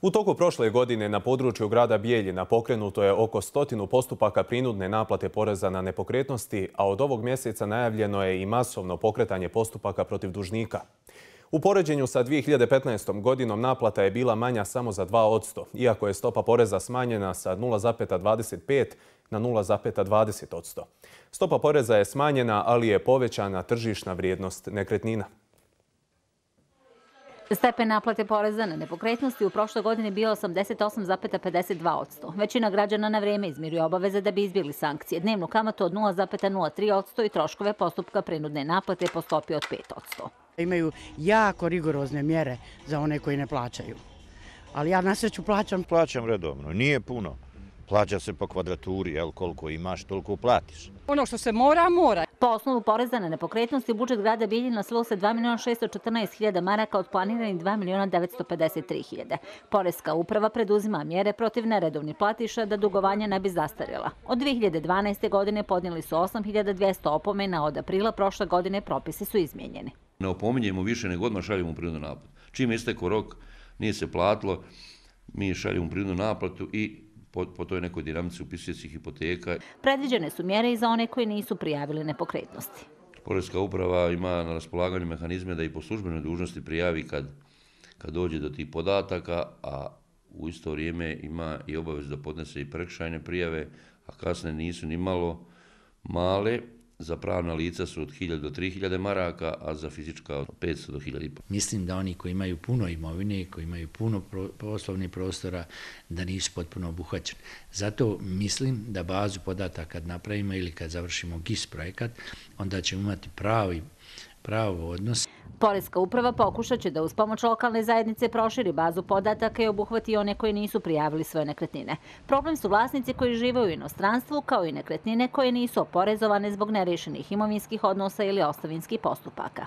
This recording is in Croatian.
U toku prošle godine na području grada Bijeljina pokrenuto je oko 100 postupaka prinudne naplate poreza na nepokretnosti, a od ovog mjeseca najavljeno je i masovno pokretanje postupaka protiv dužnika. U poređenju sa 2015. godinom naplata je bila manja samo za 2%, iako je stopa poreza smanjena sa 0,25 na 0,20%. Stopa poreza je smanjena, ali je povećana tržišna vrijednost nekretnina. Stepen naplate poreza na nepokretnosti u prošloj godini bio 88,52%. Većina građana na vrijeme izmiruje obaveze da bi izbjegli sankcije, dnevnu kamatu od 0,03% i troškove postupka prinudne naplate po stopi od 5%. Imaju jako rigorozne mjere za one koji ne plaćaju. Ali ja na sreću plaćam. Plaćam redovno, nije puno. Plaća se po kvadraturi, koliko imaš, toliko platiš. Ono što se mora, mora. Po osnovu poreza na nepokretnosti, budžet grada Bijeljina slilo se 2.614.000 maraka od planiranih 2.953.000. Poreska uprava preduzima mjere protiv neredovnih platiša da dugovanja ne bi zastarjela. Od 2012. godine podnijeli su 8.200 opomena, od aprila prošle godine propisi su izmijenjeni. Ne opominjemo više nego odmah šaljemo prinudnu naplatu. Čim istekao rok, nije se platilo, mi šaljemo prinudnu naplatu i po toj nekoj dinamici upisuje se hipoteka. Predviđene su mjere i za one koji nisu prijavili nepokretnosti. Poreska uprava ima na raspolaganju mehanizme da i po službenoj dužnosti prijavi kad dođe do tih podataka, a u isto vrijeme ima i obavezu da podnese i prekršajne prijave, a kasne nisu ni malo male. Za pravna lica su od 1.000 do 3.000 maraka, a za fizička od 500 do 1.500. Mislim da oni koji imaju puno imovine, koji imaju puno poslovnih prostora, da nisu potpuno obuhvaćeni. Zato mislim da bazu podataka kad napravimo ili kad završimo GIS projekat, onda ćemo imati pravi odnos. Poreska uprava pokušat će da uz pomoć lokalne zajednice proširi bazu podataka i obuhvati one koji nisu prijavili svoje nekretnine. Problem su vlasnici koji žive u inostranstvu, kao i nekretnine koje nisu oporezovane zbog nerešenih imovinskih odnosa ili ostavinskih postupaka.